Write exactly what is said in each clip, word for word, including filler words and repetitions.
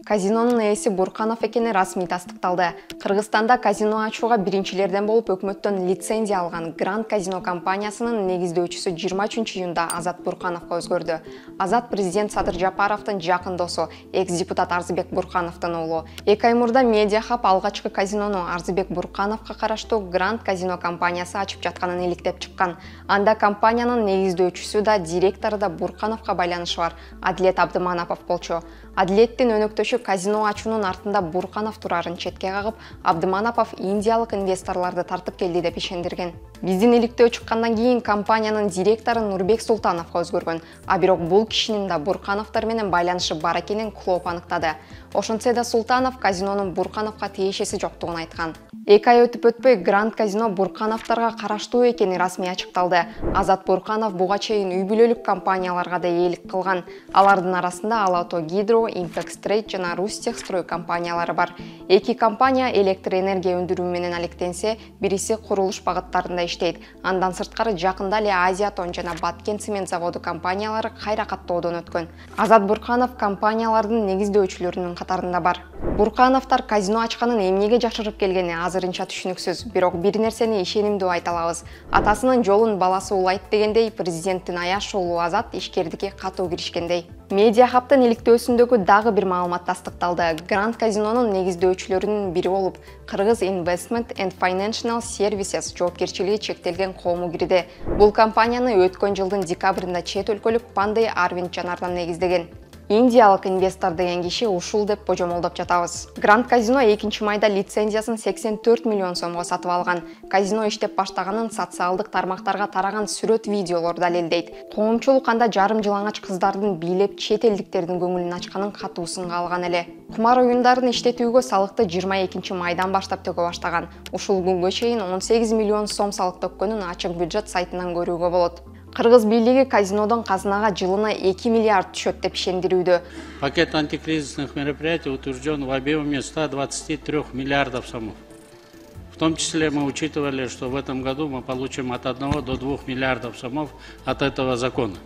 Казинонун ээси Бурканов экени расмий тастыкталды. Кыргызстанда казино ачууга биринчилерден болуп өкмөттөн лицензия алган Гранд Казино компаниясынын негиздөөчүсү жыйырма үчүнчү июнда Азат Буркановго өзгөрдү. Азат президент Садыр Жапаровдун жакын досу, экс-депутат Арзыбек Буркановдун уулу. эки ай мурда Медиа Хаб алгачкы казинону Арзыбек Буркановго караштуу Гранд Казино компаниясы ачып жатканын иликтеп чыккан. Анда компаниянын негиздөөчүсү да, директору да Буркановго байланышы бар Адилет Абдыманапов болчу. Адилеттин өнөктөшү казино ачуунун артында Бурканов турарын четке кагып, Абдыманапов индиялык инвесторлорду тартып келди деп ишендирген. Биздин иликтөө чыккандан кийин компаниянын директору Нурбек Султановго өзгөргөн, а бирок бул кишинин да Буркановдор менен байланышы бар экенин Клоп аныктады. Ошентсе да Султанов казинонун Буркановго тиешеси жоктугун айткан. эки ай өтүп өтпөй Гранд Казино Буркановдорго караштуу экени расмий ачыкталды. Азат Бурканов буга чейин үй бүлөлүк компанияларга да ээлик кылган. Алардын арасында Алато Гидро, Импекс Трейд жана Рустехстрой компаниялары бар. Эки компания электр энергия өндүрүү менен алектенсе, бириси курулуш багыттарында иштейт. Андан сырткары жакында эле Азиатон жана Баткен цемент заводу компаниялары кайра каттоодон өткөн. Азат Бурканов компаниялардын негиздөөчүлөрүнүн катарында бар. Буркановдор казино ачканын эмнеге жашырып келгени азырынча түшүнүксүз, бирок бир нерсени ишенимдүү айта алабыз. Атасынын жолун баласы улайт дегендей, президенттин аяш уулу Азат ишкердикке катуу киришкендей. Медиа Хабтын иликтөөсүндөгү дагы бир маалымат тастыкталды. Гранд Казинонун негиздөөчүлөрүнүн бири болуп, Кыргыз Investment and Financial Services жоопкерчилиги чектелген коому кирди. Бул компанияны өткөн жылдын декабрында чет өлкөлүк Пандай Арвинд Жанардан негиздеген. Индиялык инвестор деген киши ушул деп божомолдоп жатабыз. Гранд Казино экинчи майда лицензиясын сексен төрт миллион сомго сатып алган. Казино иштеп баштаганын социалдык тармактарга тараган сүрөт видеолор далилдейт. Коомчулук анда жарым жылаңач кыздардын бийлеп чет элдиктердин көңүлүн ачканын катуу сынга алган эле. Кумар оюндарын иштетүүгө салыкты жыйырма экинчи майдан баштап төгө баштаган. Ушул күнгө чейин он сегиз миллион сом салык төккөнүн ачык бюджет сайтынан көрүүгө болот. Кыргыз бийлиги казинодон казынага жылына эки миллиард түшөт деп ишендирүүдө. Пакет антикризисных мероприятий утвержден в объеме ста двадцати трёх миллиардов сомов. В том числе мы учитывали, что в этом году мы получим от одного до двух миллиардов сомов от этого закона.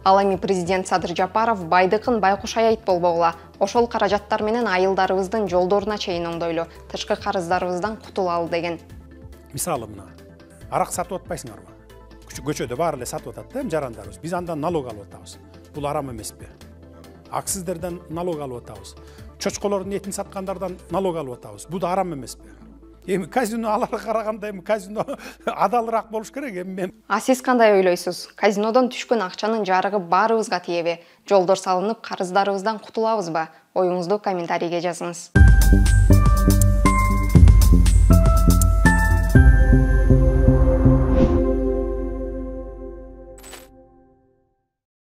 Ал эми президент Садыр Жапаров байдыкын байкуш аябайт болбогула. Ошол каражаттар менен айылдарыбыздын жолдоруна чейин оңдойлу, тышкы карыздарыбыздан кутулалы деген. Мисалы мына, арак сатып атпайсыңарбы? Көчөдө баары эле сатып атат да жарандарыбыз. Биз андан налог алып атабыз. Бул арам эмеспи? Аксиздерден налог алып атабыз. Чочколордун этин саткандардан налог алып атабыз. Бул да арам эмеспи? Эми казино аларга караганда эми казино адалыраак болуш керек эми. А сиз кандай ойлойсуз? Казинодон түшкөн акчанын жарыгы баарыбызга тиеби? Жолдор салынып, карыздарыбыздан кутулабызбы? Оюңузду комментарийге жазыңыз.